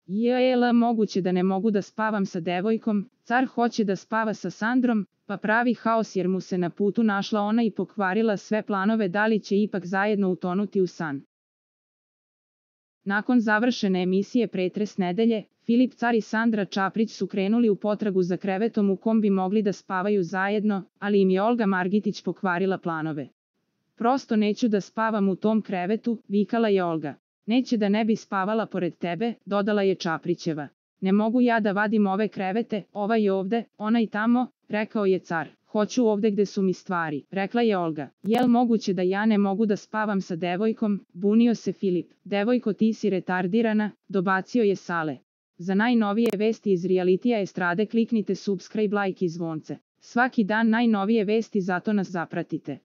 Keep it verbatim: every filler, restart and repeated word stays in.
Jel moguće da ne mogu da spavam sa devojkom, car hoće da spava sa Sandrom, pa pravi haos jer mu se na putu našla ona i pokvarila sve planove da li će ipak zajedno utonuti u san. Nakon završene emisije Pretres nedelje, Filip Car i Sandra Čaprić su krenuli u potragu za krevetom u kom bi mogli da spavaju zajedno, ali im je Olga Margitić pokvarila planove. Prosto neću da spavam u tom krevetu, vikala je Olga. Neće da ne bi spavala pored tebe, dodala je Čaprićeva. Ne mogu ja da vadim ove krevete, ovaj ovde, onaj tamo, rekao je Car. Hoću ovde gde su mi stvari, rekla je Olga. Jel moguće da ja ne mogu da spavam sa devojkom, bunio se Filip. Devojko, ti si retardirana, dobacio je Sale. Za najnovije vesti iz realitija estrade kliknite subscribe, like i zvonce. Svaki dan najnovije vesti, zato nas zapratite.